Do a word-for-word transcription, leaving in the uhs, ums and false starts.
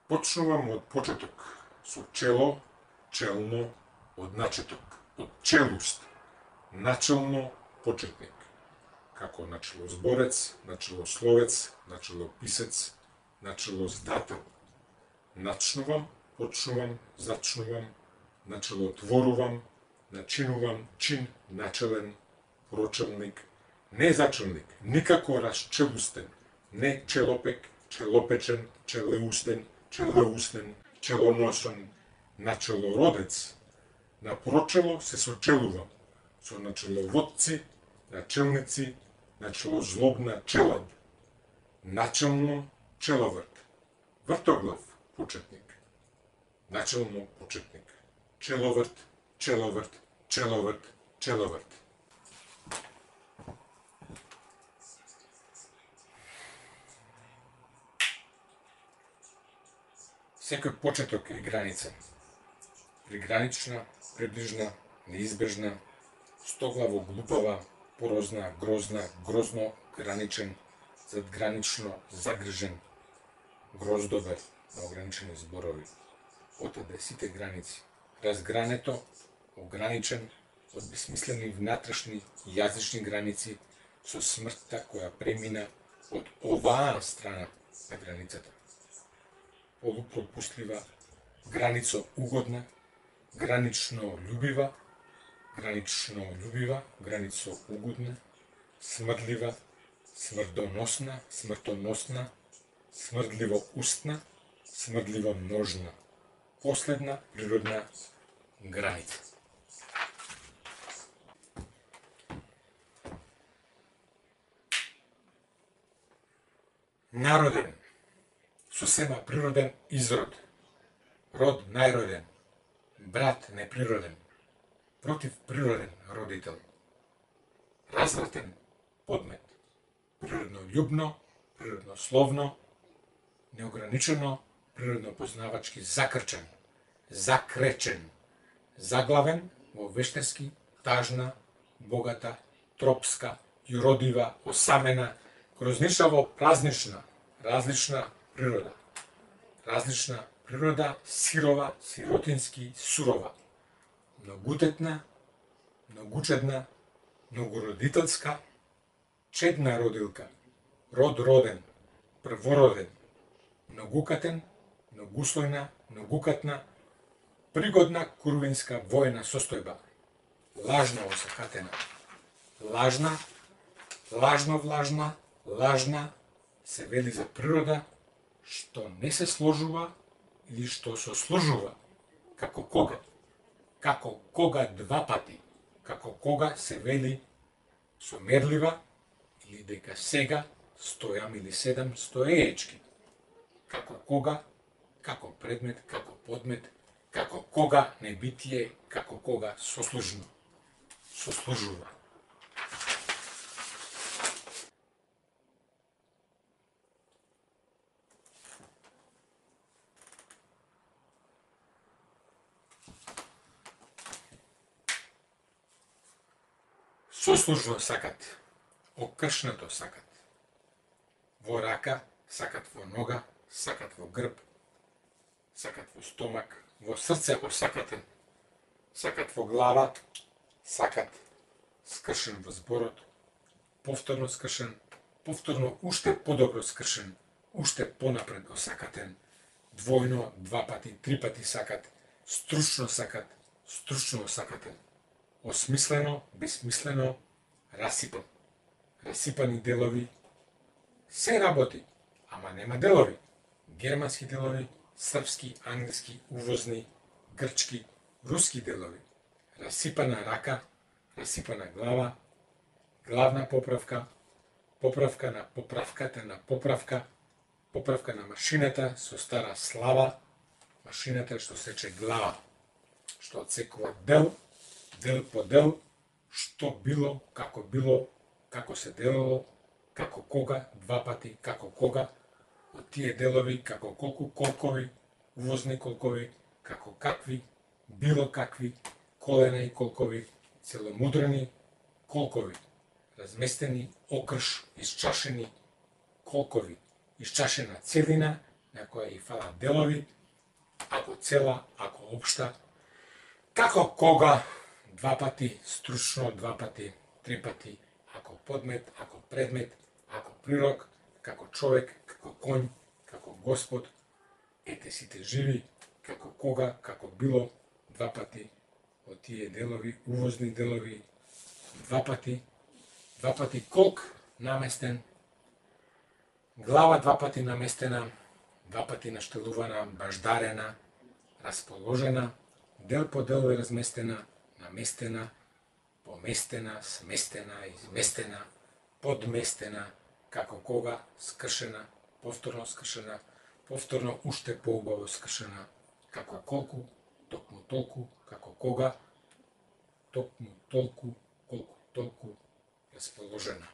Почнувам од почеток, со чело, челно, од начеток, од челуст, начелно, почетник, како начелозборец, начелословец, начелописец, начелоздател. Начнувам, почнувам, зачнувам, начелотворувам, начинувам, чин, начелен, прочелник, не зачелник, никако расчелустен, не челопек, челопечен, челеустен, челеустен, челоносен, начелородец. На прочело се сочелувам, со начеловодци, начелници, начелозлобна челад, начелно человрт, вртоглав почетник, начелно почетник, человрт, человрт, человрт, человрт. Секој почеток е граница. Пригранична, приближна, неизбежна, стоглаво глупава, порозна, грозна, грозно, граничен, задгранично, загрижен, гроздовер на ограничени зборови. Отаде сите граници. Разгрането, ограничен, од бесмислени внатрешни јазични граници со смртта која премина од оваа страна на границата. Полупропуслива, границо угодна, гранично љубива, гранично љубива, границо угодна, смрдлива, смрдоносна, смртоносна, смрдливо устна, смрдливо ножна, последна природна граница. Народен, со сема природен изрод, род најроден, брат неприроден, против природен родител, развратен подмет, природно љубно, природно словно, неограничено, природно познавачки закрчен, закречен, заглавен во вештески, тажна, богата, тропска, јуродива, осамена, грознишаво празнична, различна природа. Различна природа, сирова, сиротински, сурова. Многутетна, многучедна, многородителска, чедна родилка, род роден, првороден, многукатен, многуслојна, многукатна, пригодна курвинска војна состојба, лажна осакатена, лажна, лажно влажна, лажна, се вели за природа, што не се сложува или што се сложува, како кога, како кога два пати, како кога се вели сомерлива или дека сега стојам или седам стоеечки, како кога, како предмет, како подмет, како кога небитие, како кога сослужно, сослужува. Сослужно сакат, окршнато сакат, во рака, сакат во нога, сакат во грб, сакат во стомак, во срце осакатен, сакат во глава, сакат скршен во зборот, повторно скршен, повторно уште подобро скршен, уште понапред осакатен, двојно, два пати, три пати сакат, стручно сакат, стручно осакатен, осмислено, бесмислено, расипан, расипани делови, се работи, ама нема делови, германски делови, српски, англиски, увозни, грчки, руски делови, расипана рака, расипана глава, главна поправка, поправка на поправката на поправка, поправка на машината со стара слава, машината што сече глава, што отсекува дел, дел по дел, што било, како било, како се делало, како кога, два пати, како кога, од тие делови, како колку колкови, увозни колкови, како какви, било какви, колена и колкови, целомудрени колкови, разместени окрш, исчашени колкови, исчашена целина, на која и фалат делови, ако цела, ако општа, како кога, два пати, стручно, два пати, три пати, ако подмет, ако предмет, ако прирок, како човек, како конј, како Господ, ете сите живи, како кога, како било, два пати, од тие делови, увозни делови, два пати, два пати колк наместен, глава два пати наместена, два пати наштелувана, баждарена, расположена, дел по дел е разместена, наместена, поместена, сместена, изместена, подместена, како кога, скршена, повторно скршена, повторно уште поубаво скршена, како колку, токму толку, како кога, токму толку, колку толку расположена.